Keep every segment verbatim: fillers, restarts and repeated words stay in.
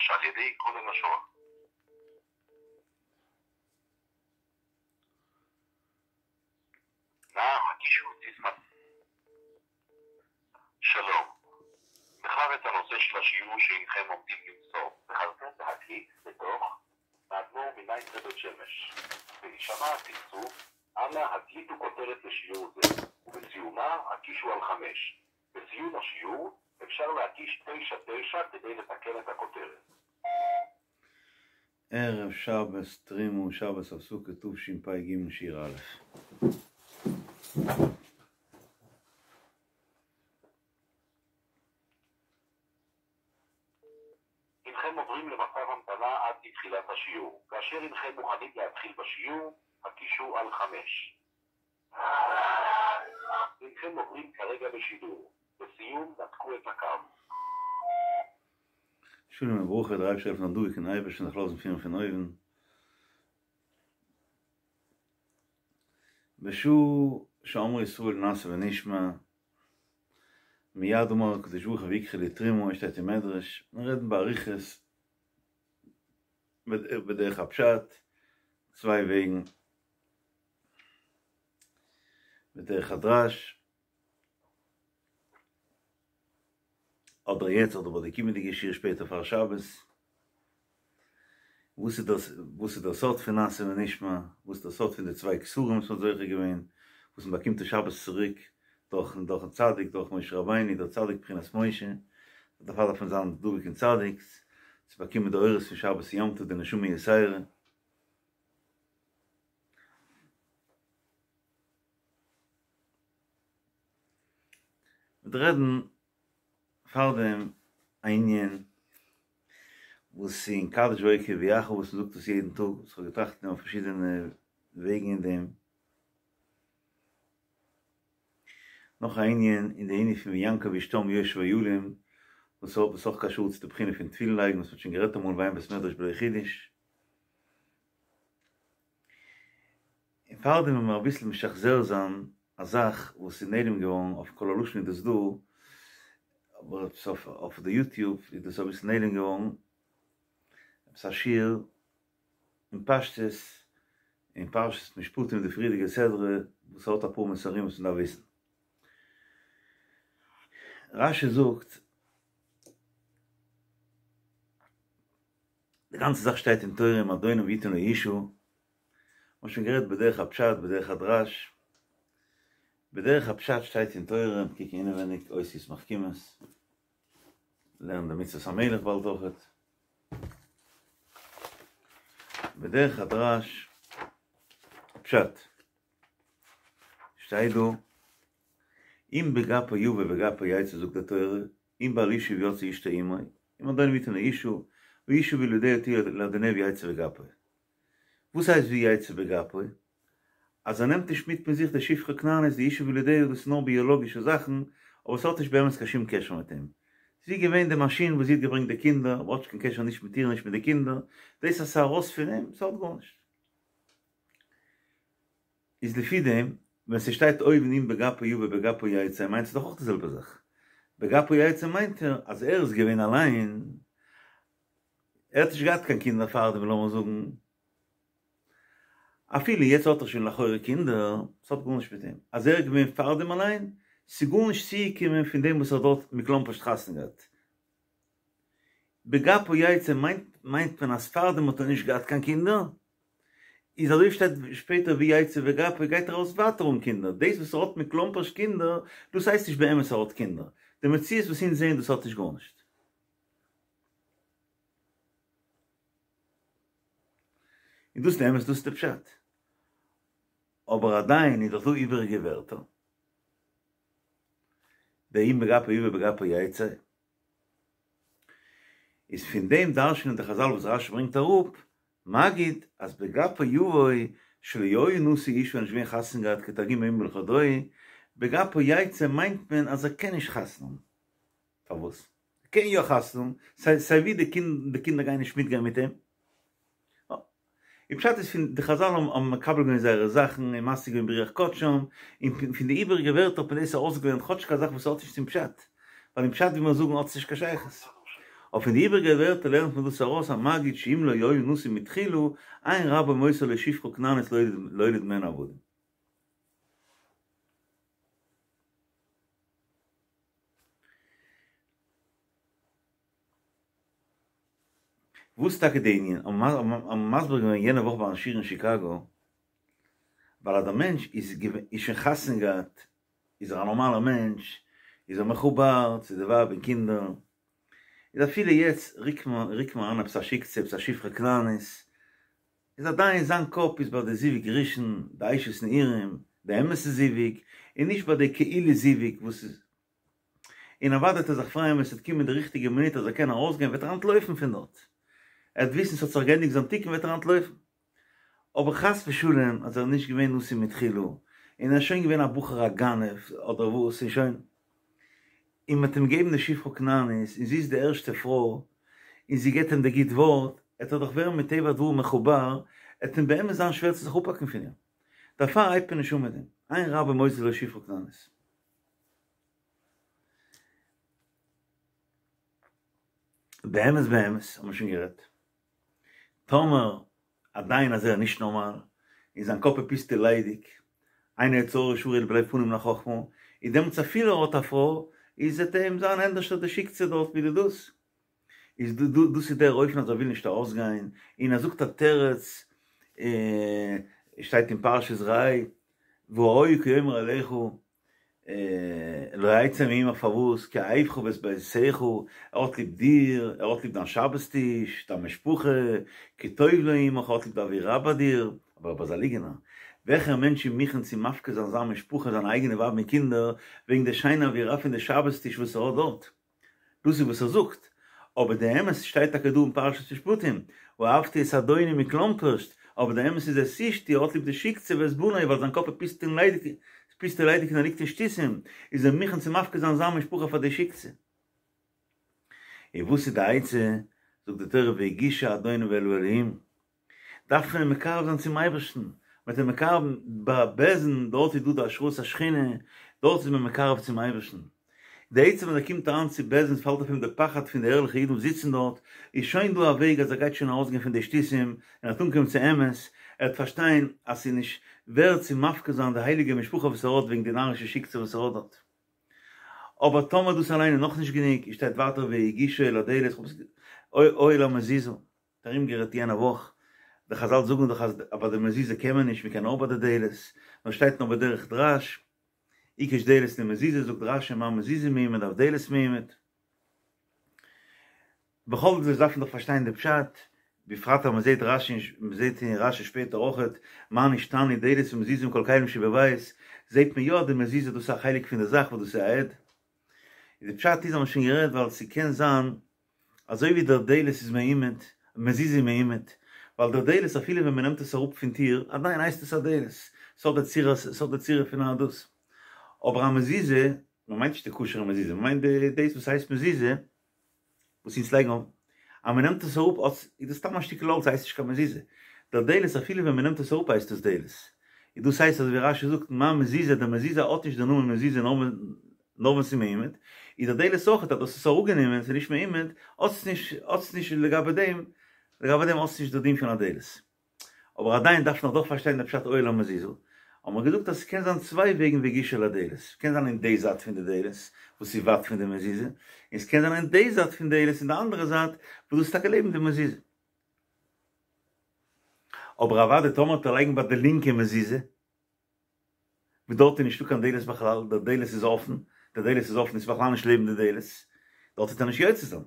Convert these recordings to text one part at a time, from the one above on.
שעל ידי כל הלשון. נא הקישו סיסמה. שלום. בחר את הנושא של השיעור שהנכם עומדים למסור. בחרתם להקליט בתוך האדמו"ר מנייטרא בית שמש. בהישמע הצפצוף, אנא הקליטו כותרת לשיעור זה, ובסיומה הקישו על חמש. בסיום השיעור אפשר להקיש תשע תשע כדי לתקן את הכותרת. ערב שבס תרימו שבס הפסוק כתוב שפ"ג שיר א'. הנכם עוברים למצב המתנה עד לתחילת השיעור. כאשר הנכם מוכנים להתחיל בשיעור, הקישו על חמש. הנכם עוברים כרגע בשידור. לסיום, נתקו את הקו. שלום וברכה, דער אייבערשטער העלפן דא קען אייבערשטן זיך לאזן פירן פון אויבן. בשעה שאמרו ישראל נעשה ונשמע, מיד אמר הקדוש ברוך הוא ויקחו לי תרומה, שטייט אין מדרש, נרעדן באריכות בדרך הפשט, צוויי וועגן, בדרך הדרש, אדער יעצט אדער ביי די קומענדיגע שיעור שפעטער פאר שבת, וואס איז דאס, וואס איז דער סוד פון נעשה ונשמע, וואס איז דער סוד פון די צוויי כתרים וואס מ'האט זוכה געווען, וואס מ'באקומט די שבת צוריק דורכן דורכן צדיק, דורך משה רבינו, דער צדיק בחינת משה, דערפאר דארף מען זיין דבוק אין צדיק, צו באקומען די אורות פון שבת יום טוב, די נשמה יתירה. מ'וועט רעדן פארדעם א ענין וואס אין קדש ויקרא ויחל וואס מ'זאגט עס יעדן טאג, וואס כ'האב געטראכט אויף פארשידענע וועגן אין דעם. נאך א ענין אין די ענין פון ויענקב איש תם יושב אהלים, וואס האט וואס אויך קשור צו די בחינה פון תפילין לייגן וואס מ'האט שוין גערעדט אמאל ואין בית מדרש בלא חידוש. און פארדעם וועלן מיר אביסל משחזר זיין א זאך וואס איז נעלם געווארן, אויף קול הלשון איז דאס דא, אבער עפעס אויף אויף די יוטיוב איז דאס אביסל נעלם געווארן, עפעס א שיעור אין פשטות אין פרשת משפטים די פריערדיגע סדרה וואס האט אפאר מסרים וואס מ'דארף וויסן. רש"י זאגט, די גאנצע זאך שטייט אין תורה אם אדונו ויתן לו אשה, מ'האט שוין גערעדט בדרך הפשט בדרך הדרש, בדרך הפשט שטייט אין תורה, קוק אינעווייניג אותיות מחכימות, לערן די מצוות המלך באלד אויכעט, בדרך הדרש פשט שטייט דא, אם בגפו יבא בגפו יצא זאגט די תורה, אם בעל אשה ויצאה אשתו עמו, אם אדונו ויתן לו אשה, והאשה וילדיה תהיה לאדוניה ויצא בגפו. וואס הייסט ויצא בגפו? אז ער נעמט נישט מיט מיט זיך די שפחה כנענית די אשה וילדיה דאס איז נאר ביאלאגישע זאכן אבער ס'האט נישט באמת קיין שום קשר מיט אים. זי איז געווען די מאשין וואס זי האט געברענגט די קינדער אבער האט נישט קיין קשר נישט מיט איר נישט מיט די קינדער, דאס אז ס'איז ארויס פון אים ס'האט גארנישט. איז לפי דעם ווען ס'שטייט אויבן אם בגפו יבא בגפו יצא מיינט עס דאך אויך די זעלבע זאך. בגפו יצא מיינט ער אז ער איז געווען אליין, ער האט נישט געהאט קיין קינדער פארדעם לאמיר זאגן, אפילו יעצט האט ער שוין לכאורה קינדער, ס'האט גארנישט מיט אים, אז ער איז געווען פארדעם אליין, ס'איז גארנישט צוגעקומען פון דעם וואס ער האט דארט מכלומרשט חתונה געהאט. בגפו יצא מיינט מיינט מען אז פארדעם האט ער נישט געהאט קיין קינדער, איז אזוי שטייט שפעטער ויצא בגפו גייט ער ארויס ווייטער אן קינדער, דאס וואס ער האט מכלומרשט קינדער דאס הייסט נישט באמת ער האט קינדער, די מציאות וואס אונז זעען דאס האט נישט גארנישט. און דאס איז די אמת דאס איז די פשט. אבער עדיין איז דאך דא איבעריגע ווערטער. דער אם בגפו יבא בגפו יצא. איז פון דעם דרש'נען די חזל וואס רשי ברענגט אראפ, מגיד אז בגפו יבוא שלא היה נשוי אשה נישט געווען חתונה געהאט כתרגומו אם בלחודוהי, בגפו יצא מיינט מען אז ער קען נישט חתונה האבן. פארוואס? ער קען יא חתונה האבן, סיי סיי ווי די קינד די קינדער גייען נישט מיטגיין מיט אים. די פשט איז פון די חזל האבן מקבל געווען זייערע זאכן און משיג געווען ברוח קדשם, און פון די איבעריגע ווערטער האט מען דאס ארויסגעלערנט כאטשיג א זאך וואס האט נישט צום פשט, ווייל אין פשט ווי מיר זאגן האט עס נישט קיין שייכות. אבער פון די איבעריגע ווערטער לערנט מען דאס ארויס המגיד שאם לא היה נשוי מתחילה, אין רבו מוסר לו שפחה כנענית להוליד ממנה עבדים. וואס איז טאקע די ענין? האבן מיר מסביר געווען יענע וואך ביים שיעור אין שיקאגא, ווייל אז דער מענטש איז איז שוין חתונה געהאט, איז ער א נארמאלער מענטש, איז ער מחובר צו די ווייב און קינדער, איז אפילו יעצט רוקט מען רוקט מען אריין עפעס א שיקצע, עפעס א שפחה כנענית, איז עדיין זיין קאפ איז ביי די זיווג ראשון, די אשת נעורים, די אמת'ע זיווג, און נישט ביי די כאילו זיווג וואס איז. און אוודאי וועט ער זיך פרייען ווען ס'וועט קומען די ריכטיגע מינוט אז ער קען ארויסגיין וועט ער אנטלויפן פון דארט, ער וועט וויסן ס'האט זיך געענדיגט זיין תיקון וועט ער אנטלויפן. אבער חס ושלום אז ער איז נישט געווען נשוי מתחילה, און ער איז שוין געווען א בחור א גנב אדער וואס און שוין, און מ'האט אים געגעבן די שפחה כנענית און זי איז די ערשטע פרוי און זי געבט אים די גוט ווארט, עט ער דאך ווערן מטבע הדברים מחובר, עט אים באמת זיין שווער צו זיך אפהאקן פון איר. דערפאר הייבט מען נישט אן מיט דעם, אין רבו מוסר לו שפחה כנענית. באמת באמת האבן מיר שוין גערעדט, טאמער עדיין אז ער איז נישט נארמאל, און זיין קאפ איז פוסט און ליידיג, אין יצר הרע שרוי אלא בלב פנוי מן החכמה, איז דעמאלטס אפילו ער האט א פרוי, איז וועט אים זיין ענדערשטער די שיקצע דארט ווי די דאס. איז דאס איז דער אופן אז ער וויל נישט ארויסגיין, און ער זאגט א תירוץ, שטייט אין פרשת ראה, והיה כי יאמר אליך, לא אצא מעמך פארוואס כי אהבך ואת ביתך, ער האט ליב דיר, ער האט ליב דיין שבת טיש, דיין משפחה, כי טוב לו עמך, ער האט ליב די אווירה ביי דיר, אבער אבער איז א ליגענער, וועלכער מענטש איז מוכן צו מפקיר זיין זיין משפחה, זיינע אייגענע ווייב און קינדער, וועגן די שיינע אווירה פון די שבת טיש וואס ער האט דארט? דאס איז וואס ער זאגט, אבער די אמת שטייט טאקע דא אין פרשת משפטים, אהבתי את אדוני מקלומפרשט, אבער די אמת איז את אשתי, ער האט ליב די שיקצע ואת בני ווייל זיין קאפ איז פוסט און ליידיג, פוסט און ליידיג און ער ליגט אין שטותים, איז ער מוכן צו מפקיר זיין זיין משפחה פאר די שיקצע. און וואס איז די עצה? זאגט די תורה והגישה אדוניו אל האלהים. דארף מען אים מקרב זיין צום אייבערשטן, מ'וועט אים מקרב ביי בית דין, דארט איז דא די השראת השכינה, דארט איז מען מקרב צום אייבערשטן. די עצם ווען ער קומט אריין צו בית דין פאלט אויף אים די פחד פון די ערליכע אידן וואס זיצן דארט, איז שוין דא א וועג אז ער גייט שוין ארויסגיין פון די שטותים און ער וועט אנקומען צו אמת, ער וועט פארשטיין אז ס'איז נישט ווערד צו מפקיר זיין די הייליגע משפחה וואס ער האט וועגן די נארישע שיקצע וואס ער האט דארט. אבער טאמער דאס אליין איז נאכנישט גענוג, שטייט ווייטער והגישו אל הדלת, או אל המזוזה. ארום גערעדט יענע וואך, די חזל זאגן דאך אז ביי די מזוזה קען מען נישט, מען קען נאר ביי די דלת, נאר שטייט נאר בדרך דרש, הקיש דלת למזוזה, זאגט רש"י מה מזוזה מעומד אף דלת מעומד. בכל זאת דארף מען דאך פארשטיין די פשט, בפרט אז מען זעט רש"י, מען זעט אין רש"י שפעטער אויכעט, מה נשתנו דלת ומזוזה מכל כלים שבבית, זעט מען יא אז די מזוזה דאס איז א חלק פון די זאך וואס דאס איז א עד. די פשט איז האבן מיר שוין גערעדט ווייל ס'קען זיין אזוי ווי דער דלת איז מעומד, מזוזה איז מעומד, ווייל דער דלת אפילו ווען מ'נעמט עס אראפ פון טיר, עדיין הייסט עס א דלת, ס'האט די צורה, ס'האט די צורה פון א דאס. אבער א מזוזה, מ'מיינט נישט די כשר'ע מזוזה, מ'מיינט די דאס וואס הייסט מזוזה, וואס אונז לייגן אויף, אז מ'נעמט עס אראפ האט, איז דאס סתם א שטיקל האלץ הייסט נישט קיין מזוזה. דער דלת אפילו ווען מ'נעמט עס אראפ הייסט עס דלת. און דאס הייסט אזוי ווי רש"י זאגט מה מזוזה, די מזוזה האט נישט די נאמען מזוזה נאר ווען. נאר ווען ס'איז מעומד, איז דער דלת אויכעט אז דאס איז אראפגענומען, ס'איז נישט מעומד, האט עס נישט, האט עס נישט לגבי דעם, לגבי דעם האט עס נישט די דין פון א דלת. אבער עדיין דארף מען דאך פארשטיין די פשט או אל המזוזה. האבן מיר געזאגט אז ס'קען זיין צוויי וועגן והגישו אל הדלת, ס'קען זיין אין די זייט פון די דלת, וואס איז ווייט פון די מזוזה, און ס'קען זיין אין די זייט פון דלת אין די אנדערע זייט, וואס דאס איז טאקע לעבן די מזוזה. אבער אוודאי טאמער וועט ער לייגן ביי די לינקע מזוזה, וואס דארט איז נישטא קיין דלת בכלל, דער דלת איז אפן, דער דלת איז אפן איז בכלל נישט לעבן די דלת, דארט וועט ער נישט יוצא זיין.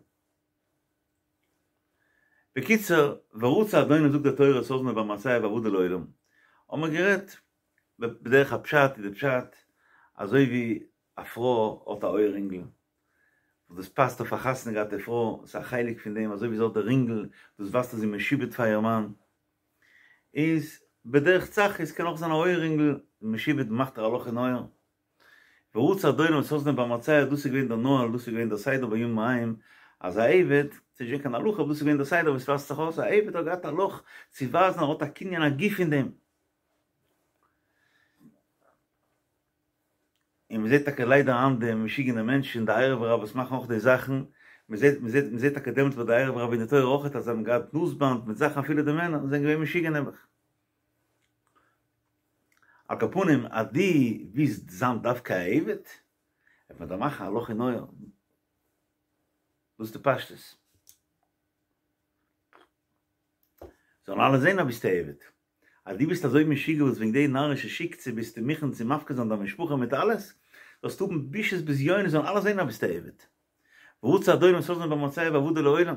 בקיצור, ורצע אדוניו זאגט די תורה את אזנו במעשיו ואבדו לעולם, האבן מיר גערעדט בדרך הפשט איז די פשט אזוי ווי א פרוי האט א אויערינגל וואס דאס פאסט אויף א חתונה געהאטע פרוי, ס'איז א חלק פון דעם אזוי ווי זי האט די רינגל דאס ווייזט אז זי איז משועבד פאר איר מאן, איז בדרך צחות קען אויך זיין א אויערינגל משועבד מאכט ער א לאך אין אויער, ורצה אדונו את אזנו במצע, דאס איז געווען דער נוהל, דאס איז געווען דער סדר בימים ההם, אז א עבד, ס'איז נישט געווען קיין הלכה, אבער דאס איז געווען דער סדר ווי עס ווייזט זיך אויס, א עבד האט געהאט א לאך צו ווייזן אז ער האט א קנין הגוף אין דעם. און מען זעט טאקע ליידער היינט די משוגענע מענטשן, די ערב רב וואס מאכן אויך די זאכן, מען זעט מען זעט מען זעט טאקע דעמאלטס ביי די ערב רב אין די תורה אויכעט אז זיי האבן געהאט נאז-באנד מיט זאכן אפילו די מענער זענען געווען משוגע נעבעך. על כל פנים אז דו ווילסט זיין דווקא א עבד, וועט מען דיר מאכן א לאך אין אויער. דאס איז די פשטות. זאלן אלע זען אז ביסט א עבד. אז דו ביסט אזוי משוגע וואס וועגן די נארישע שיקצע ביסטו מוכן צו מפקיר זיין דיין משפחה מיט אלעס, זאלסטו האבן בושות בזיונות זאלן אלע זען אז ביסט א עבד. ורצה אדונו את אזנו במצע ועבדו לעולם.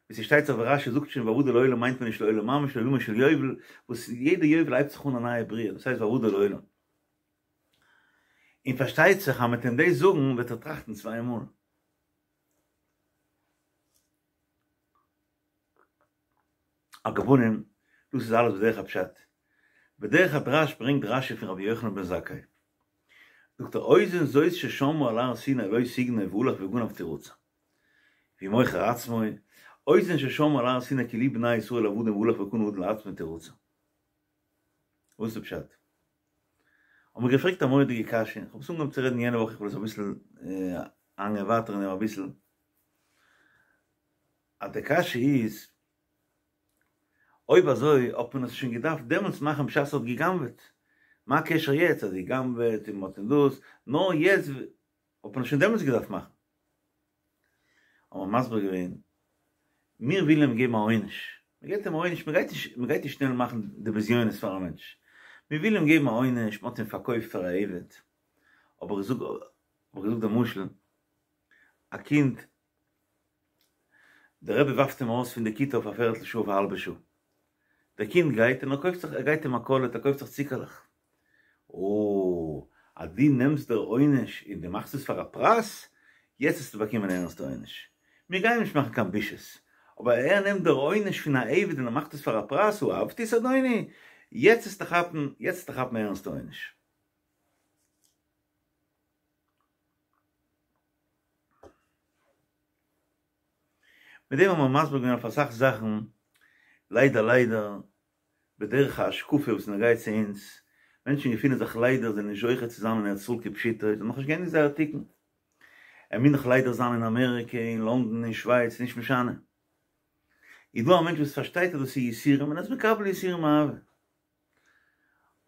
ווי ס'שטייט זיך ווי רש"י זאגט שוין ועבדו לעולם מיינט מען נישט לעולם ממש לעולמו של יובל, וואס יעדע יובל הייבט זיך אן א נייע בריאה, דאס הייסט ועבדו לעולם. און פארשטייט זיך אז מ'וועט אים דאס זאגן וועט ער טראכטן צוויי מאל. על כל פנים, דאס איז אלעס בדרך הפשט. בדרך הדרש ברענגט רש"י פון רבי יוחנן בן זכאי. זאגט ער אוזן זאת ששמעה על הר סיני לא תגנוב והלך וגנב תרצע. והוא מוכר עצמו, אוזן ששמעה על הר סיני כי לי בני ישראל עבדים והלך וקנה אדון לעצמו תרצע. וואס איז די פשט? האט מען געפרעגט א מורא'דיגע קשיא, איך האב עס אנגעהויבן צו רעדן יענע וואך, איך וויל עס אביסל איינגיין ווייטער אין דעם אביסל. אז די קשיא איז, אויב אזוי האט מען עס שוין געדארפט דעמאלטס מאכן בשעת ער האט גע'גנב'עט, מה הקשר יעצט אז גע'גנב'עט און מ'האט אים דאס, נאר יעצט האט מען עס שוין דעמאלטס געדארפט מאכן. האט מען מסביר געווען, מיר ווילן אים געבן א עונש, מען געבט אים א עונש, מען גייט נישט, מען גייט נישט שנעל מאכן די בזיונות פאר א מענטש, מיר ווילן אים געבן א עונש, מען האט אים פארקויפט פאר א עבד, האב איך געזאגט, האב איך געזאגט די משל, א קינד דער רבי ווארפט אים ארויס פון די כיתה אויף א פערטל שעה אויף א האלבע שעה. דער קינד גייט און ער קויפט זיך, ער גייט אין מכולת, ער קויפט זיך צוקערלעך. אוי, אז דו נעמסט דער עונש און דו מאכסט עס פאר א פרס, יעצט וועסטו באקומען א ערנסטע עונש. מיר גייען נישט מאכן קיין בושות, אבער ער נעמט דער עונש פון א עבד און ער מאכט עס פאר א פרס, אהבתי את אדוני, יעצט וועסטו כאפן, יעצט וועסטו כאפן א ערנסטע עונש. מיט דעם האט מען מסביר געווען אויף אסאך זאכן, ליידער ליידער, בדרך ההשקפה וואס נוגע צו אונז, מענטשן געפינען זיך ליידער זענען נישט זוכה צו זיין אין ארץ ישראל כפשוטו, זיי האבן נאכנישט געענדיגט זייער תיקון, ער מוז נאך ליידער זיין אין אמעריקע, אין לונדון, אין שווייץ, נישט משנה. איז דא א מענטש וואס פארשטייט אז דאס איז יסורים און ער איז מקבל יסורים מאהבה.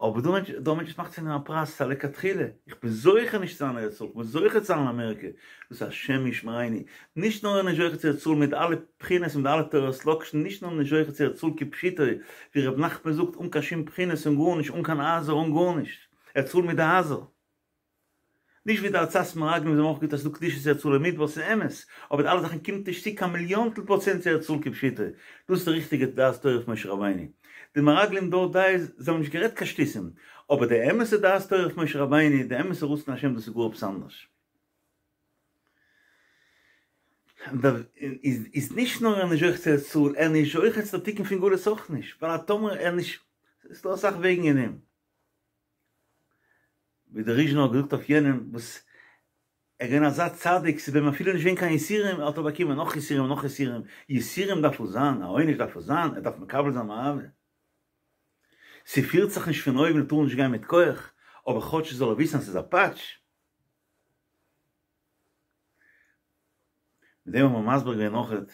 אבער דא מענטש, דא מענטש וואס מאכט פון דעם א פרס, ס'איז א לכתחילה, איך בין זוכה נישט צו זיין אין ארץ ישראל, איך בין זוכה צו זיין אין אמעריקע, דאס איז השם ישמרינו, נישט נאר ער איז נישט זוכה צו ארץ ישראל מיט אלע בחינות און מיט אלע תורת לאקשן, נישט נאר נישט זוכה צו ארץ ישראל כפשוטו, ווי ר' נחמן זאגט אן קיין שום בחינות און גארנישט, אן קיין הייזער אן גארנישט, ארץ ישראל מיט די הייזער. נישט ווי די עצת מרגלים וואס האבן אויך געזאגט אז ס'איז דא קדושת ארץ ישראל אין מדבר, ס'איז אמת, אבער די אלע זאכן קומט נישט צו קיין מיליאנטל פראצענט צו ארץ ישראל כפשוטו, דאס איז די ריכטיגע דעת תורה פון משה רבינו. די מרגלים דארט די זיי האבן נישט גערעדט קיין שטותים, אבער די אמת'ע דעת תורה פון משה רבינו, די אמת'ע רצון השם דאס איז גאר עפעס אנדערש. איז נישט נאר ער נישט זוכה צו ארץ ישראל, ער נישט זוכה צו די תיקון פון גלות אויך נישט, ווייל אז טאמער ער נישט, ס'איז דא אסאך וועגן אין אים. ווי דער ריזשינער האט געזאגט אויף יענעם וואס ער איז געווען אזא צדיק ס'איז ביי אים אפילו נישט געווען קיין יסורים האט ער באקומען נאך יסורים און נאך יסורים, יסורים דארף עס זיין, א עונש דארף עס זיין, ער דארף מקבל זיין מאהבה. ס'פירט זיך נישט פון אויבן ער טאר נישט גיין מיט כח, אבער כאטש זאל ער וויסן אז ס'איז א פאטש. מיט דעם האט מען מסביר געווען אויכעט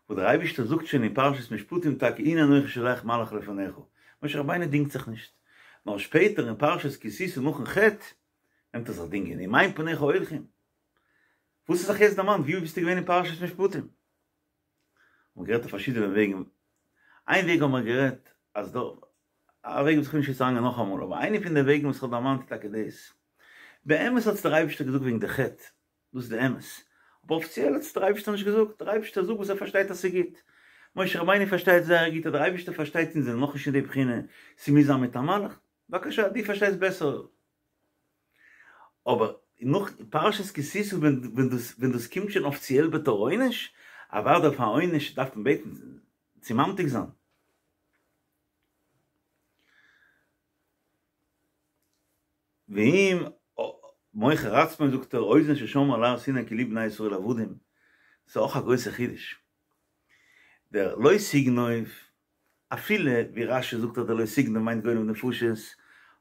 וואס דער אייבערשטער זאגט שוין אין פרשת משפטים טאקע הנה אנכי שולח מלאך לפניך, משה רבינו דינגט זיך נישט, נאר שפעטער אין פרשת כי תשא נאכן חטא נעמט ער זיך דינגען, אם אין פניך הולכים, וואס האסט זיך יעצט דערמאנט, וואו ביסטו געווען אין פרשת משפטים? האבן מיר גערעדט אויף פארשידענע וועגן, איין וועג האבן מיר גערעדט אז דא, א וועג וואס איך וויל נישט יעצט אריינגיין נאכאמאל, אבער איינע פון די וועגן וואס איך האב דערמאנט איז טאקע דאס, באמת האט עס דער אייבערשטער געזאגט וועגן די חטא, דאס איז די אמת. אבער אפיציעל האט עס דער אייבערשטער נישט געזאגט, דער אייבערשטער זאגט וואס ער פארשטייט אז ס'איז גוט. משה רבינו פארשטייט זייער גוט אז דער אייבערשטער פארשטייט אונז זענען נאכנישט אין די בחינה, ס'מוז זיין מיט א מלאך. בבקשה, דו פארשטייסט בעסער. אבער נאך פרשת כי תשא ווען דאס ווען דאס קומט שוין אפיציעל בתור עונש, אוודאי אויף א עונש דארף מען בעטן צו ממתיק זיין. ואם מוכר עצמו זאגט ער אוזן ששמעה על הר סיני כי לי בני ישראל עבדים, ס'איז אויך א גרויסע חידוש. דער לא תגנוב, אפילו ווי רש"י זאגט אז דער לא תגנוב מיינט גונב נפשות,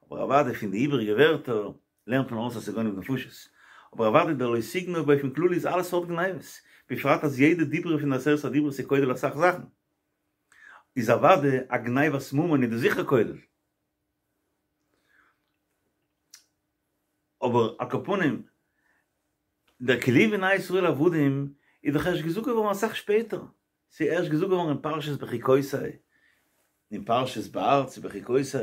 אבער אוודאי פון די איבעריגע ווערטער לערנט מען ארויס אז ס'איז גונב נפשות. אבער אוודאי דער לא תגנוב באופן כללי איז אלע סארט גניבות, בפרט אז יעדע דיברא פון די עשרת הדיברות איז כולל אסאך זאכן. איז אוודאי א גניבת ממון איז דאס זיכער כולל. אבער על כל פנים, דער כי לי בני ישראל עבדים איז דאך ערשט געזאגט געווארן אסאך שפעטער, ס'איז ערשט געזאגט געווארן אין פרשת בחוקותי, אין פרשת בהר צו בחוקותי.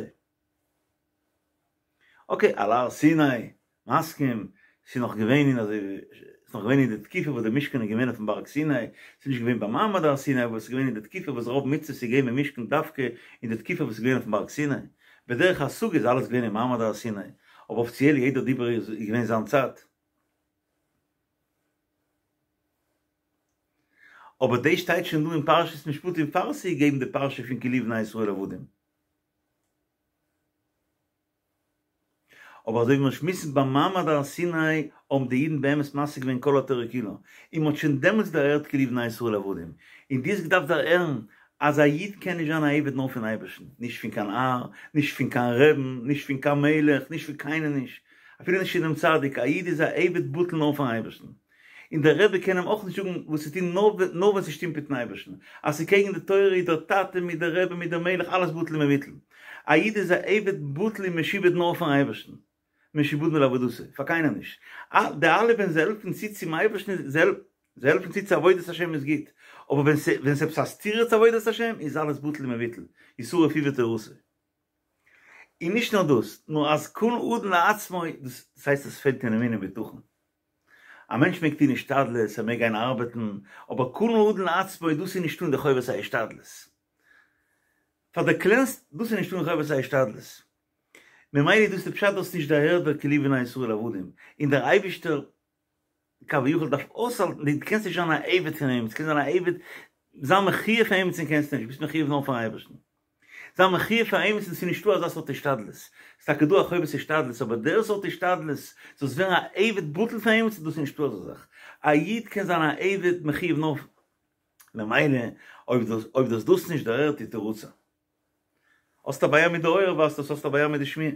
אקעי, על הר סיני, מסכים, ס'איז נאך געווען אין אזוי ווי, ס'איז נאך געווען אין די תקופה וואס די משכן איז געווען אויפן בארג סיני, ס'איז נישט געווען ביים מעמד הר סיני, אבער ס'איז געווען אין די תקופה וואס רוב מצוות איז געווען אין משכן דווקא אין די תקופה וואס איז געווען אויפן בארג סיני. בדרך השגה איז אלעס געווען אין מעמד הר סיני, אבער אפיציעל יעדער דיבור איז געווען זיין צייט. אבער דאס שטייט שוין דא אין פרשת משפטים פאר ס'איז געגעבן די פרשה פון כי לי בני ישראל עבדים. אבער אזוי ווי מיר שמועסן ביים מעמד הר סיני האבן די אידן באמת משיג געווען כל התורה כולה, און מ'האט שוין דעמאלטס דערהערט כי לי בני ישראל עבדים, און דו האסט געדארפט דערהערן אז א איד קען נישט זיין א עבד נאר פון אייבערשטן, נישט פון קיין האר, נישט פון קיין רעבן, נישט פון קיין מלך, נישט פון קיינעם נישט, אפילו נישט פון דעם צדיק, א איד איז א עבד בטל נאר פארן אייבערשטן. און דער רבי קען אים אויך נישט זאגן וואס צו טון נאר ווען ס'שטימט מיטן אייבערשטן, אז ס'איז קעגן די תורה איז דער טאטע מיט דער רבי מיט דער מלך אלעס בטל ומבוטל. א איד איז א עבד בטל און משועבד נאר פארן אייבערשטן, משועבדים לעבודתו, פאר קיינעם נישט. די אלע ווען זיי העלפן צו צום אייבערשטן, זיי העלפן צו צו עבודת השם איז גוט, אבער ווען ס'איז עפעס א סתירה צו עבודת השם איז אלעס בטל ומבוטל, ישרף הוא ותורתו. און נישט נאר דאס, נאר אז קנה אדון לעצמו, דאס הייסט עס פעלט אין אמונה און בטחון. א מענטש מעג טון השתדלות, ער מעג גיין ארבעטן, אבער קנה אדון לעצמו, דאס איז נישטא אין די חובת ההשתדלות. פאר די קלענסטע, דאס איז נישטא אין חובת ההשתדלות. ממילא איז דאס די פשט דו האסט נישט דערהערט דער כי לי בני ישראל עבדים, און דער אייבישטער כביכול דארף אויסהאלטן, דו קענסט נישט זיין א עבד פון אים, דו קענסט זיין א עבד, זיין מחויב פאר עמיצן קענסטו נישט, ביסט מחויב נאר פארן אייבערשטן. זיין מחויב פאר עמיצן ס'איז נישטא אזא סארט השתדלות, ס'איז טאקע דא א חובת השתדלות אבער דער סארט השתדלות זאלסט ווערן א עבד בטל פאר עמיצן דאס איז נישטא אזא זאך, א איד קען זיין א עבד מחויב נאר ממילא אויב דו אויב דו האסט דאס נישט דערהערט יתרצה. האסט א בעיה מיט די אויער ווייזט אויס האסט א בעיה מיט די שמיעה.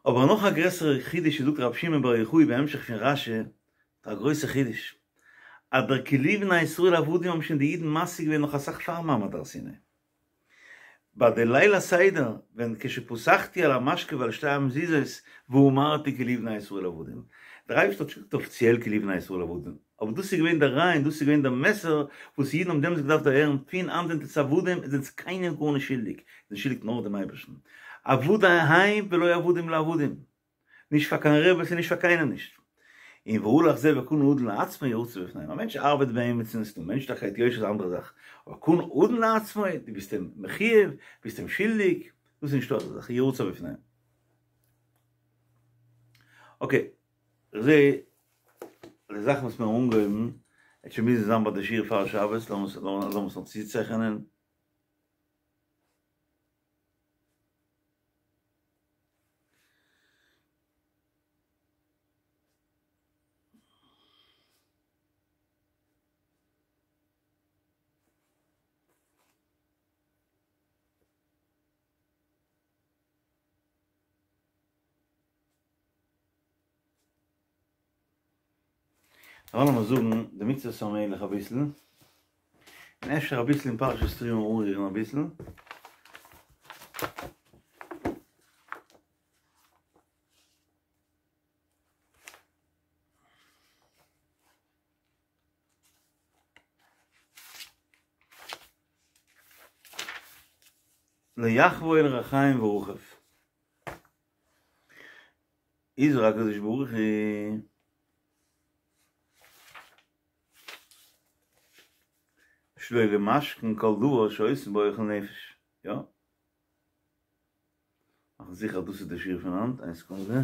אבער נאך א גרעסערע חידוש זאגט רבי שמעון בר יוחאי בהמשך פון רש"י, א גרויסע חידוש, אז דער כי לי בני ישראל עבדים האבן שוין די אידן משיג געווען נאך אסאך פאר מעמד הר סיני. ביי די ליל הסדר ווען כשפסחתי על המשקה ועל שתי המזוזות ואמרתי כי לי בני ישראל עבדים. דער אייבערשטער האט נישט געזאגט אפיציעל כי לי בני ישראל עבדים, אבער דאס איז געווען דער רעיון, דאס איז געווען דער מסר וואס אידן האבן דעמאלטס געדארפט דערהערן, פון היינט זענט עטס עבדים, עטס זענטס קיינעם גארנישט שולדיג, זענט שולדיג נאר דעם אייבערשטן. עבדי הם ולא עבדים לעבדים. נישט פאר קיין רעבעס און נישט פאר קיינעם נישט. און והלך זה וקנה אדון לעצמו ירצה בפניהם. א מענטש ארבעט ביי עמיצן, ס'דא מענטשליכקייט, יושר איז א אנדערע זאך. אבער קנה אדון לעצמו, דו ביסט אים מחויב, ביסט אים שולדיג, דאס איז נישטא אזא זאך, ירצה בפניהם. אקעי, איך זעה די זאכן וואס מיר האבן אנגעהויבן, וועט שוין מוזן זיין ביי די שיעור פאר שבת, לאמיר עס נאך צוצייכענען. לאמיר זאגן די מצוות המלך אביסל, און אפשר אביסל אין פרשת תרומה אנרירן אביסל. לא יחבור לרחיים ורחב. הזהיר הקדוש ברוך הוא שלא למשכן כל דבר שעושים בו אוכל נפש. יא? מאכן זיכער אז דאס איז די שיעור פון היינט, איין סעקונדע.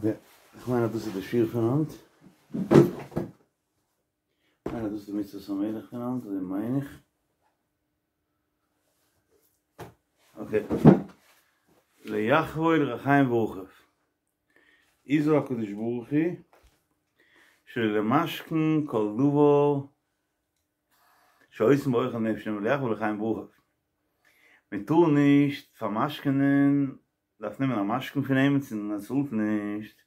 Okay, איך מיין אז דאס איז די שיעור פון היינט. איך מיין אז דאס איז די מצוות המלך פון היינט, אזוי מיין איך. Okay. ליחבול רחיים ורוחב. איזו הקדוש ברוך הוא שלמשכן כל דבר שעושים באוכל נפש ליחבול רחיים ורוחב. מען טאר נישט פארמשכנען, דארף נעמען א משכון פון אים און ער צאלט נישט,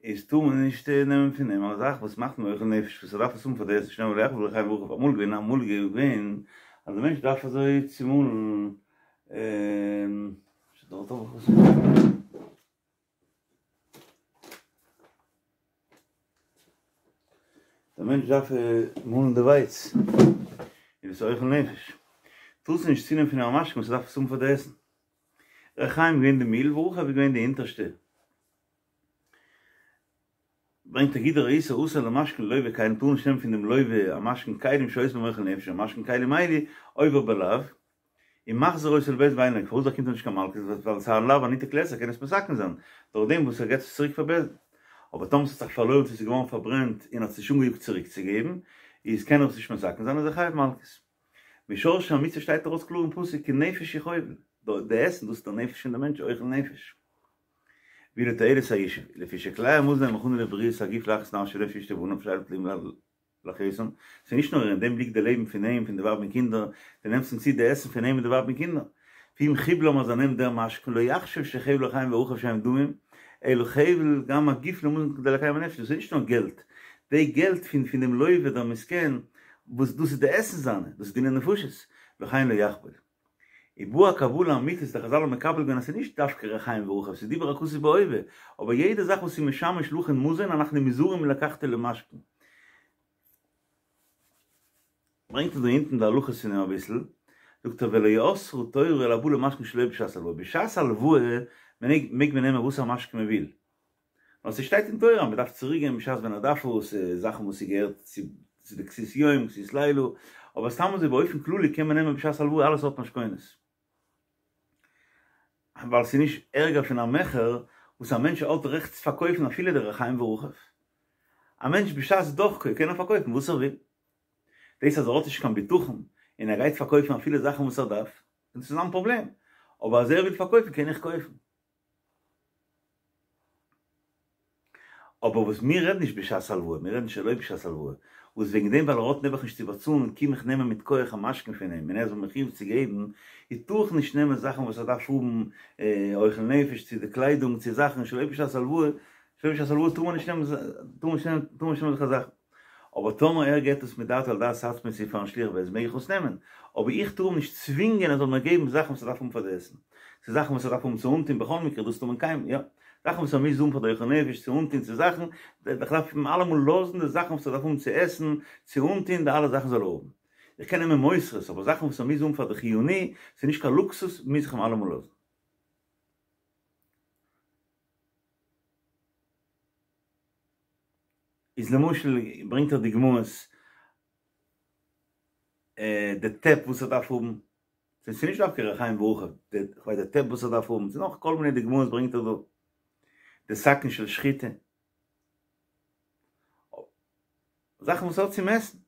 איז טאר מען נישט נעמען פון אים א זאך וואס מאכט אים אוכל נפש, וואס ער דארף עס האבן פאר די עסן, שנאמר ליחבול רחיים ורוחב. אמאל געווען, אמאל געווען אז דער מענטש דארף אזוי צומאלן, דארט האב איך עס. דער מענטש דארף מאלן די ווייץ, און עס איז אוכל נפש. טארסט נישט צונעמען פון אים א משכון וואס ער דארף עס האבן פאר די עסן. רחיים געווען די מיל, ורוחב איז געווען די אונטערשטע. ברענגט ער גוט ראית אסור למשכן לוה כלים, טאר נישט נעמען פון דעם לוה א משכון כלים שעושים בהם אוכל נפש, א משכון כלים אלו עובר בלאו, און מחזיר אותו לבית דין ואין לוקה, פארוואס באקומט ער נישט קיין מלקות? ווייל עס איז א לאו הניתק לעשה, ער קען עס מתקן זיין דורך דעם וואס ער געבט עס צוריק פאר בית דין. אבער טאמער עס האט זיך פארלוירן צו עס איז געווארן פארברענט און האט עס נישט אנגעיאגט צוריק צו געבן, איז קען ער עס נישט מתקן זיין, איז ער חייב מלקות. משורשי המצוה שטייט ארויס קלאר אין פסוק כי נפש הוא חובל, די עסן דאס איז דער נפש פון די מענטש אוכל נפש. ואילו תועלת הישוב, לפי שכלי המזון הם הכנה לבריאות הגוף להחיות נפשו ונפש אשתו ובניו שאלו תלויים להחיותם, ס'איז נישט נאר אין דעם ליגט די לעבן פון אים פון די ווייב און קינדער, דו נעמסט אים צו די עסן פון אים און די ווייב און קינדער. ואם חיבלם אז ער נעמט דער משכון לא יחשב שחבל רחיים ורוחב שהם דמים, אלא חבל גם הגוף למזון כדי לקיים הנפש, דאס איז נישט נאר געלט, די געלט פון פון דעם לוה דער מסכן, וואס דאס איז די עסן זיינע, דאס איז דיני נפשות, לכן לא יחבול. ובאה הקבלה האמיתית, די חזל האבן מקבל געווען אז ס'איז נישט דווקא רחיים ורוחב, ס'איז דיבר הכתוב בהווה, אבער יעדע זאך וואס איז משמש להכין מזון אנחנו נזהרים מלקחתו למשכן. ברענגט ער דא אונטן די הלכות פון אים אביסל, זאגט ער ולא אסרה תורה אלא הבא למשכן שלא בשעת הלוואה, בשעת הלוואה מעג מען נעמען וואס א משכון מען וויל, נאר ס'שטייט אין תורה אז מ'דארף צוריק געבן בשעת ווען ער דארף עס, זאכן וואס ס'געהערט צו די כסות יום, כסות לילה, אבער סתם אזוי באופן כללי קען מען נעמען בשעת הלוואה אלע סארט משכונות. ווייל ס'איז נישט ערגער פון א מכר וואס א מענטש האט רעכט צו פארקויפן אפילו די רחיים ורוחב. א מענטש בשעת דוחקו קען ער פארקויפן וואס ער וויל. דאס אז ער האט נישט קיין בטחון און ער גייט פארקויפן אפילו זאכן וואס ער דארף, דאס איז זיין פראבלעם. אבער אז ער וויל פארקויפן קען איך קויפן. אבער וואס מיר רעדן נישט בשעת הלוואה, מיר רעדן שלא בשעת הלוואה, וואס וועגן דעם ווייל ער האט נעבעך נישט צו באצאלן קום איך נעמען מיט כח א משכון פון אים און ער איז מיר מחויב צו געבן, איז טאר איך נישט נעמען זאכן וואס ער דארף האבן אוכל נפש צו די קליידונג צו זאכן שלא בשעת הלוואה, שלא בשעת הלוואה טאר מען נישט נעמען טאר מען נישט נעמען טאר מען נישט נעמען אזעלכע זאכן. אבער טאמער ער געבט עס מדעתו על דעת עצמו צו פארן שליח בית דין מעג איך עס נעמען, אבער איך טאר אים נישט צווינגען ער זאל מיר געבן זאכן וואס ער דארף האבן פאר די עסן, צו זאכן וואס ער דארף האבן צו אנטון בכל מקרה דאס טאר מען קיינמאל, יא, זאכן וואס ער מוז האבן פאר די אוכל נפש צו אנטון צו זאכן, איך דארף אים אלעמאל לאזן די זאכן וואס ער דארף האבן צו עסן, צו אנטון, די אלע זאכן זאל ער האבן. איך קען נעמען מותרות, אבער זאכן וואס ער מוז האבן פאר די חיוני, ס'איז נישט קיין לוקסוס, מוז איך אים אלעמאל לאזן. איז למשל ברענגט ער דוגמאות די טעפ וואס ער דארף האבן, ס'איז נישט דווקא רחיים ורוחב, כ'ווייס די טעפ וואס ער דארף האבן, ס'איז נאך כל מיני דוגמאות ברענגט ער דא, די סכין של שחיטה, זאכן וואס האט צו מעסן.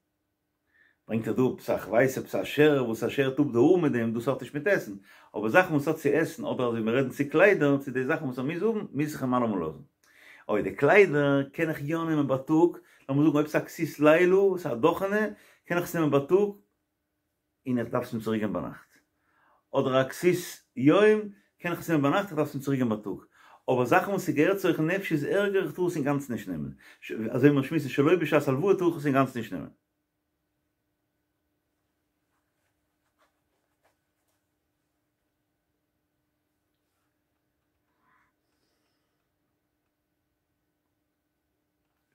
ברענגט ער דא עפעס א כ'ווייס עפעס א שער וואס ער שערט אפ די האר מיט דעם, דאס האט נישט מיט עסן, אבער זאכן וואס האט צו עסן אדער אזוי מיר רעדן צו קליידער צו די זאכן וואס ער מוז האבן מוז איך אים אלעמאל לאזן. אוי די קליידער קען איך יא נעמען בייטאג, לאמיר זאגן אויב ס'איז א כסות לילה, ס'איז א דאכענע, קען איך עס נעמען בייטאג און איך דארף עס אים צוריק געבן ביינאכט. אדער א כסות יום קען איך עס נעמען ביינאכט איך דארף עס אים צוריק געבן בייטאג. אבער זאכן וואס ס'געהערט צו אוכל נפש איז ערגער, איך טאר עס אינגאנצן נישט נעמען. אזוי מיר שמועסן שלא בשעת הלוואה טאר איך עס אינגאנצן נישט נעמען.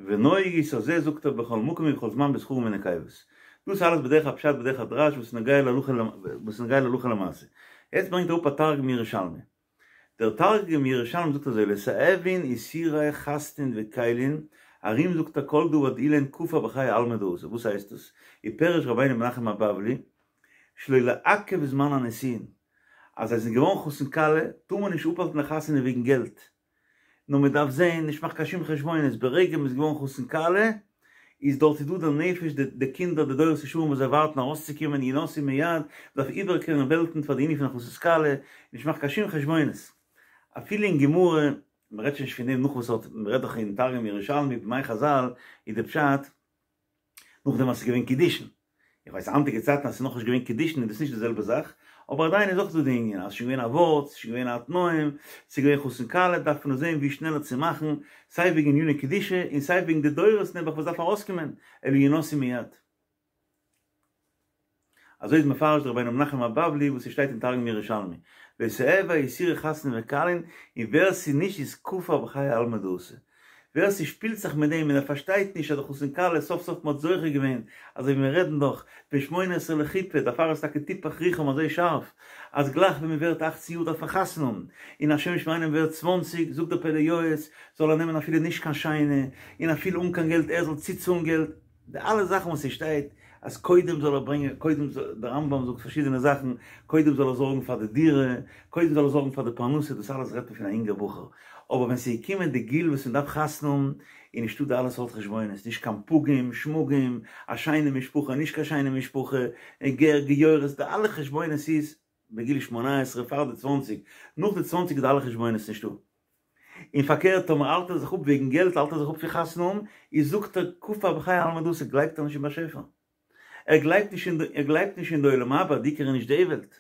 ונוהג איז אזוי זאגט ער בכל מקום ובכל זמן בזכרים ונקבות. דאס איז אלעס בדרך הפשט בדרך הדרש וואס איז נוגע להלכה וואס איז נוגע להלכה למעשה. יעצט ברענגט ער אפ א תרגום ירושלמי. דער תרגום ירושלמי זאגט אזוי לתעבין איסורי חתנין וכלין ארום זאגט ער כל דבר דאילין כופר בחיי עלמא דאתי. וואס הייסט דאס? ופירש רבינו מנחם הבבלי שלא לעכב זמן הנישואין אז זיי זענען געווארן חתן כלה טאר מען נישט אפהאלטן די חתונה וועגן געלט נאר מען דארף זעהן, נישט מאכן קיין שום חשבונות, ברגע מען איז געווארן חתן כלה, איז דארט איז דא דער נפש, די קינדער, די דורות ישרים וואס זיי ווארטן ארויסצוקומען, ינשאו מיד, מען דארף איבערקערן וועלטן פאר די ענין פון הכנסת כלה, נישט מאכן קיין שום חשבונות. אפילו אין גמרא, מען רעדט שוין נישט פון דעם נאך וואס האט, מען רעדט דאך אין תרגום ירושלמי בימי חזל, איז די פשט, נאכדעם אז ס'איז געווען קידושין. איך ווייס היינטיגע צייטן אז ס'איז נאכנישט געווען קידושין איז דאס נישט די זעלבע זאך, אבער עדיין איז אויך דא די ענין אז ס'איז שוין געווען א ווארט, ס'איז שוין געווען א תנאים, ס'איז געווען חתן כלה, דארף מען זען ווי שנעלער צו מאכן, סיי וועגן עניני קדושה און סיי וועגן די דורות נעבעך וואס דארף ארויסקומען, אלא ינשאו מיד. אזוי איז מפרש דער רבינו מנחם הבבלי וואס ס'שטייט אין תרגום ירושלמי, לא תיהוי איסורי חתנין וכלין, און ווער ס'איז נישט איז כופר בחיי עלמא דאתי. ווער ס'שפילט זיך מיט דעם און ער פארשטייט נישט אז די חתן כלה סוף סוף מ'האט זוכה געווען, אזוי ווי מיר רעדן דאך, בן שמונה עשרה לחופה, דערפאר איז טאקע תיפח רוחם אזוי שארף, אז גלייך ווען מ'ווערט אכצן יאר דארף מען חתונה האבן, און השם ישמרינו מ'ווערט צוואנציג, זאגט דער פלא יועץ, זאל ער נעמען אפילו נישט קיין שיינע, און אפילו אן קיין געלט ער זאל צוצאלן געלט, די אלע זאכן וואס ס'שטייט אז קודם זאל ער ברענגען, קודם זאל, דער רמב"ם זאגט פארשידענע זאכן, קודם זאל ער זארגן פאר די דירה, קודם זאל ער זארגן פאר די פרנסה, דאס אלעס רעדט מען פון א אינגער בחור, אבער ווען ס'איז געקומען די גיל וואס מ'דארף חתונה האבן, איז נישטא די אלע סארט חשבונות, נישט קיין פגים, שמגים, א שיינע משפחה, נישט קיין שיינע משפחה, גר, גיורת, די אלע חשבונות איז בגיל שמונה עשרה פאר די צוואנציג, נאך די צוואנציג איז די אלע חשבונות נישטא. און פארקערט טאמער האלט ער זיך אפ וועגן געלט האלט ער זיך אפ פון חתונה האבן, איז זאגט ער כופר בחיי עלמא דאתי גלייבט ער נישט אין באשעפער, ער גלייבט נישט אין ער גלייבט נישט אין די עולם הבא, די עיקר איז נישט די וועלט.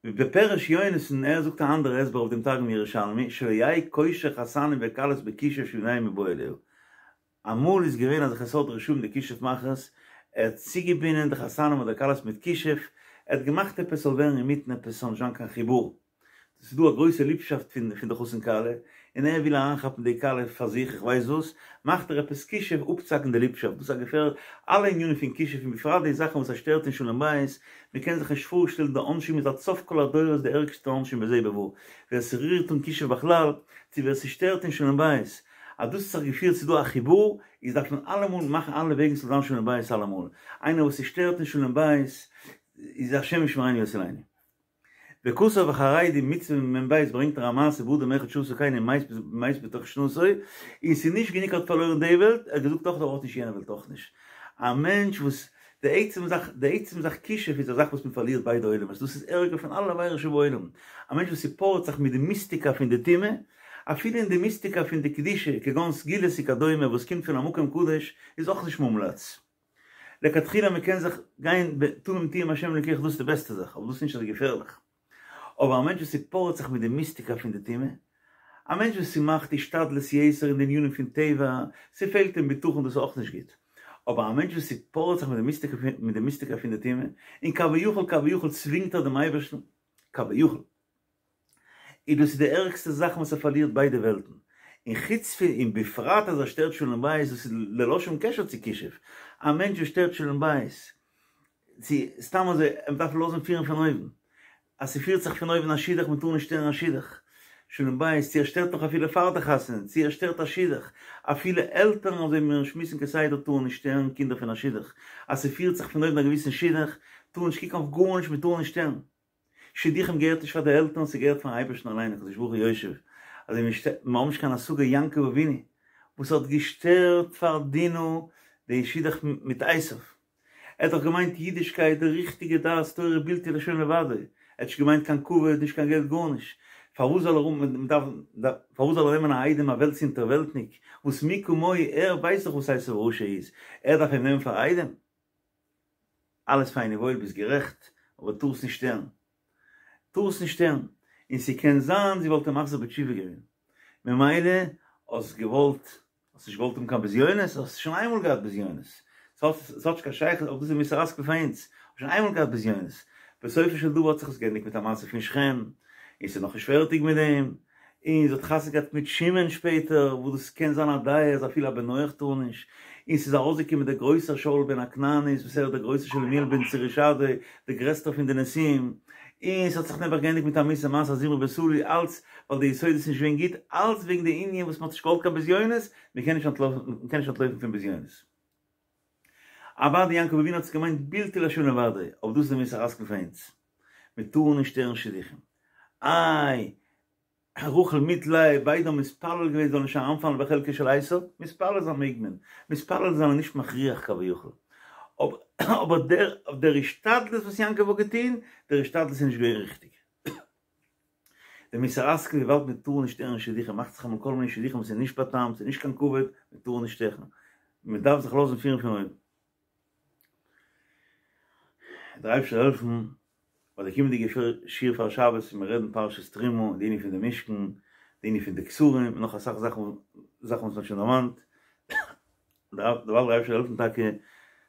ובפירש יונתן ער זאגט א אנדערע הסבר אויף דעם תרגום ירושלמי שלא יהא קושר חתנים וכלות בכישוף שביניהם מיבעי ליה, אמאל איז געווען אזעלכע סארט רשעים די כישוף מאכערס, ער האט צוגעבינדען די חתנים אדער כלות מיט כישוף, ער האט געמאכט עפעס זאל ווערן אינמיטן עפעס ס'זאל נישט זיין קיין חיבור, ס'איז דא א גרויסע ליבשאפט פון פון די חתן כלה, און ער וויל אריינכאפן די כלה פאר זיך איך ווייס וואס, מאכט ער עפעס כישוף אפצוהאקן די ליבשאפט, דאס איז א געפער אלע ענינים פון כישוף און בפרט די זאכן וואס עס שטערט אין שלום בית, מען קען זיך נישט פארשטעלן די עונשים איז עד סוף כל הדורות די ערגסטע עונשים בזה ובבא, ווער ס'רירט אן כישוף בכלל, צו ווער ס'שטערט אין שלום בית, אז דאס האט זיך געפירט ס'איז דא א חיבור, איז דארף מען אלעמאל מאכן אלע וועגן ס'זאל זיין שלום בית אלעמאל, איינער וואס ס'שטערט אין שלום בית איז השם ישמרינו ויצילנו. וכתב החרדים מצוה מ"ב ברענגט ער א מעשה באדם אחד שעשה כן ומת בתוך שנתו, און ס'איז נישט גענוג ער האט פארלוירן די וועלט, ער האט געזאגט אויך ער האט נישט יענע וועלט אויך נישט. א מענטש וואס די עצם זאך, די עצם זאך כישוף איז א זאך וואס מען פארלירט ביידע עולמות, דאס איז ערגער פון אלע עבירות שבעולם, א מענטש וואס ס'פארעט זיך מיט די מיסטיקה פון די טומאה, אפילו אין די מיסטיקה פון די קדושה, כגון סגולות וכדומה וואס קומט פון א מקום קדוש, איז אויך נישט מומלץ. לכתחילה מען קען זיך גיין תמים תהיה עם השם אלוקיך דאס איז די בעסטע זאך, אבער דאס איז נישט אזוי געפערליך. אבער א מענטש וואס ס'פארעט זיך מיט די מיסטיקה פון די טומאה, א מענטש וואס ס'מאכט השתדלות יתר אין די ענינים פון טבע, ס'פעלט אים בטחון דאס איז אויך נישט גוט. אבער א מענטש וואס ס'פארעט זיך מיט די מיסטיקה מיט די מיסטיקה פון די טומאה, און כביכול כביכול צווינגט ער דעם אייבערשטן, כביכול. איז דאס איז די ערגסטע זאך וואס ער פארלירט ביידע וועלטן, און חוץ פון און בפרט אז ער שטערט שלום בית, דאס איז ללא שום קשר צו כישוף, א מענטש וואס שטערט שלום בית, צו סתם אזוי, מען דארף לאזן פירן פון אויבן, אז ס'פירט זיך פון אויבן א שידוך מען טאר נישט שטערן א שידוך, שלום בית, צו ער שטערט נאך אפילו פאר די חתונה, צו ער שטערט א שידוך, אפילו עלטערן אזוי ווי מיר שמועסן כסדר טארן נישט שטערן קינדער פון א שידוך, אז ס'פירט זיך פון אויבן א געוויסן שידוך, טאר נישט קוקן אויף גארנישט מען טאר נישט שטערן. שידוכים געהערט נישט פאר די עלטערן, ס'געהערט פארן אייבערשטן אליין, הקדוש ברוך הוא יושב, אזוי ווי מיר האבן נישט קיין השגה יעקב אבינו וואס האט געשטערט פאר דינה די שידוך מיט עשיו, ער האט דאך געמיינט אידישקייט די ריכטיגע דעת תורה בלתי לשון לבדו, ער האט נישט געמיינט קיין כבוד נישט קיין געלט גארנישט, פארוואס זאל ער פארוואס זאל ער נעמען א איידעם א וועלטס אונטערוועלטניק וואס מי כמוהו ער ווייסט דאך וואס עשיו הרשע איז, ער דארף אים נעמען פאר איידעם? אלעס פיין און וואויל ביסט גערעכט, אבער טארסט נישט שטערן. טארסט נישט שטערן. און ס'קען זיין זי וואלט אים מחזיר בתשובה געווען, ממילא האסט געוואלט, האסט נישט געוואלט האבן קיין בזיונות, האסט שוין איינמאל געהאט בזיונות, ס'האט נישט קיין שייכות, אבער דאס איז מוסר השכל פאר אונז, האסט שוין איינמאל געהאט בזיונות, בסופו של דבר האט זיך עס געענדיגט מיט א מעשה פון שכם, און ס'איז נאכנישט פערטיג מיט דעם, און זי האט חתונה געהאט מיט שמעון שפעטער, וואס דאס קען זיין א דעה אז אפילו א בן נח טאר נישט, און ס'איז ארויסגעקומען דער גרויסער שאול בן הכנענית וואס ער איז דער גרויסער שלומיאל בן צורישדי, דער גרעסטער פון די נשיאים, און ס'האט זיך נעבעך געענדיגט מיט א מיאוסע מעשה זמרי בן סלוא, אלץ ווייל די יסוד איז נישט געווען גוט, אלץ וועגן די ענין וואס מ'האט נישט געוואלט קיין בזיונות, מ'קען נישט אנטלויפן, מ'קען נישט אנטלויפן פון בזיונות. אוודאי יעקב אבינו האט עס געמיינט בלתי לה' לבדו, אבער דאס איז די מוסר השכל פאר אונז, מ'טאר נישט שטערן שידוכים. איי, רחל מיט לאה ביידע האבן מתפלל געווען זאל נישט אריינפאלן בחלקו של עשו, מתפלל זיין מעג מען, מתפלל זיין איז נישט מכריח כביכול, אבער דער דער השתדלות וואס יעקב האט געטון, דער השתדלות איז נישט געווען ריכטיג. דער מוסר השכל וויבאלד מען טאר נישט שטערן שידוכים מאכט זיך אמאל כל מיני שידוכים וואס איז נישט באטאמט, ס'איז נישט קיין כבוד, מען טאר נישט שטערן, מען דארף זיך לאזן פירן פון אויבן. דער אייבערשטער זאל העלפן ביי די קומענדיגע שיעור פאר שבת ווען מיר רעדן פרשת תרומה, די ענין פון די משכן, די ענין פון די כתרים, און נאך אסאך זאכן זאכן וואס מ'האט שוין דערמאנט, דערווייל דער אייבערשטער זאל העלפן טאקע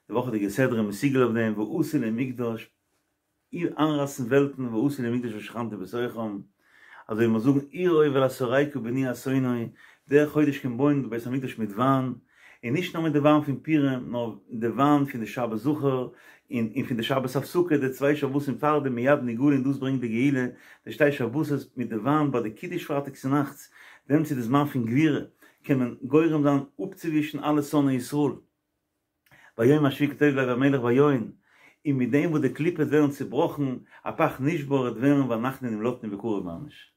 די וואכעדיגע סדרה מסוגל אויף דעם ועשו לי מקדש, איינרייסן וועלטן ועשו לי מקדש ושכנתי בתוכם, אזוי ווי מיר זאגן עירו אל השורקה בני אתונו, דער חודש קען בויען די בית המקדש מיט וויין, און נישט נאר מיט די וויין פון פורים, נאר די וויין פון די שבת זכור, און און פון די שבת הפסקה, די צוויי שבתים פאר דעם מיד נגאלין דאס ברענגט די גאולה, די שתי שבתות מיט די וויין ביי די קידוש פרייטאג צונאכטס, דעמאלטס איז די זמן פון גבורה, קען מען גורם זיין אפצואווישן אלע שונאי ישראל. ביום השביעי כי טוב לב המלך ביין, און מיט דעם וואס די קליפות ווערן צובראכן, הפך נשבר וועט ווערן ואנחנו נמלטנו בקרוב ממש.